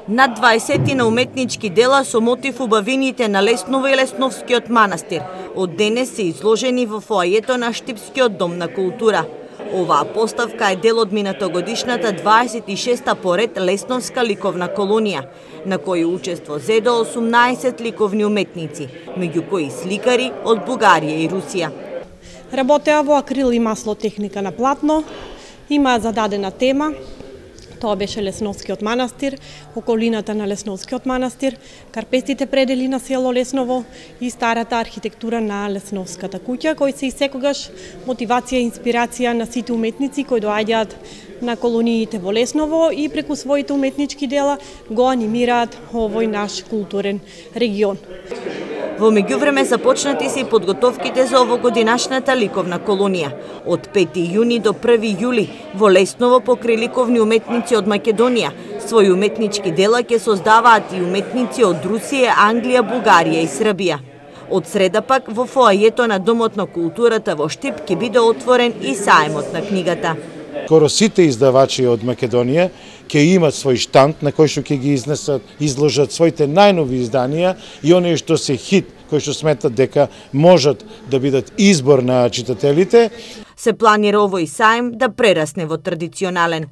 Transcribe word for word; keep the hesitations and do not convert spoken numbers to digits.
Над дваесет уметнички дела со мотив убавините на Лесново и Лесновскиот манастир од денес се изложени во фоајето на Штипскиот дом на култура. Оваа поставка е дел од минатогодишната дваесет и шеста поред Лесновска ликовна колонија, на кој учество зедо осумнаесет ликовни уметници, меѓу кои сликари од Бугарија и Русија. Работеа во акрил и масло техника на платно, има зададена тема. Тоа беше Лесновскиот манастир, околината на Лесновскиот манастир, карпестите предели на село Лесново и старата архитектура на Лесновската куќа, кои се и секогаш мотивација и инспирација на сите уметници кои доаѓаат на колониите во Лесново и преку своите уметнички дела го анимираат овој наш културен регион. Во меѓувреме започнати се и подготовките за овогодинашната ликовна колонија. Од пети јуни до први јули во Лесново покрај ликовни уметници од Македонија своји уметнички дела ќе создаваат и уметници од Русија, Англија, Бугарија и Србија. Од среда пак во фоајето на Домот на културата во Штип ќе биде отворен и саемот на книгата. Скоро сите издавачи од Македонија ќе имат свој штанд на кој што ќе ги изнесат, изложат своите најнови изданија и оние што се хит, кои што сметат дека можат да бидат избор на читателите. Се планира овој саем да прерасне во традиционален.